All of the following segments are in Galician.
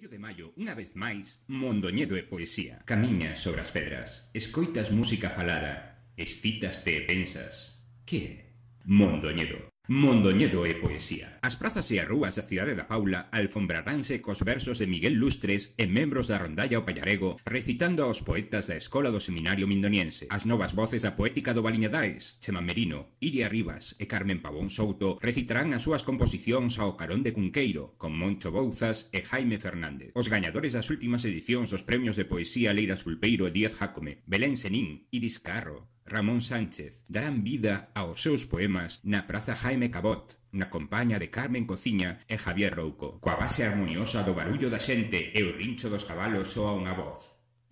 1 de maio, unha vez máis, Mondoñedo e poesía. Camiñas sobre as pedras, escoitas música falada, excítaste e pensas. Que é? Mondoñedo. Mondoñedo e poesía. As prazas e as rúas da cidade da Paula alfombraránse cos versos de Miguel Lustres e membros da rondalla o Pallarego recitando aos poetas da Escola do Seminario Mindoniense. As novas voces da poética do Baliñadares, Chema Merino, Iria Rivas e Carmen Pavón Souto recitarán as súas composicións ao carón de Cunqueiro con Moncho Bouzas e Jaime Fernández. Os gañadores das últimas edicións dos premios de poesía Leiras Pulpeiro e Díaz Jácome, Belén Senín, Iris Carro, Ramón Sánchez darán vida aos seus poemas na Praza Jaime Cabot, na compaña de Carmen Cociña e Javier Rouco. Coa base armoniosa do barullo da xente e o rincho dos cabalos soa unha voz.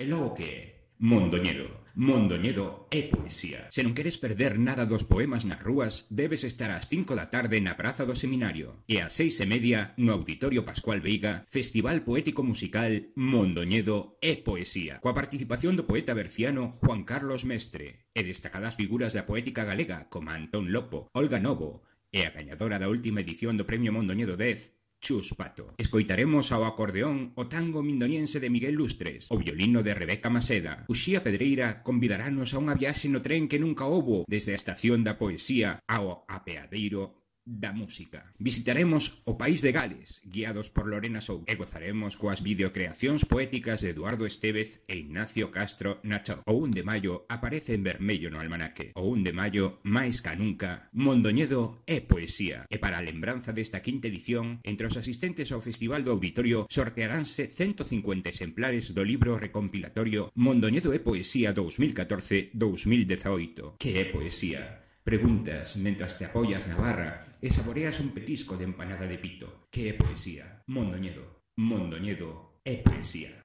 E logo que é? Mondoñedo. Mondoñedo é poesía. Se non queres perder nada dos poemas nas rúas, debes estar ás 5 da tarde na Praza do Seminario e ás 6:30 no Auditorio Pascual Veiga, Festival Poético Musical Mondoñedo é poesía, coa participación do poeta berciano Juan Carlos Mestre e destacadas figuras da poética galega como Antón Lopo, Olga Novo e a gañadora da última edición do Premio Mondoñedo 10, Chus Pato. Escoitaremos ao acordeón o tango mindoniense de Miguel Lustres, o violino de Rebeca Maseda. Uxía Pedreira convidarános a unha viaxe no tren que nunca houbo desde a estación da poesía ao apeadeiro da música. Visitaremos o país de Gales, guiados por Lorena Souto, e gozaremos coas videocreacións poéticas de Eduardo Estévez e Ignacio Castro Nacho. O 1 de maio aparece en vermello no almanaque. O 1 de maio, máis ca nunca, Mondoñedo é poesía. E para a lembranza desta quinta edición, entre os asistentes ao Festival do Auditorio sortearánse 150 exemplares do libro recompilatorio Mondoñedo é poesía 2014-2018. Que é poesía? Preguntas mentras te apoias na barra e saboreas un petisco de empanada de pito. Que é poesía? Mondoñedo. Mondoñedo é poesía.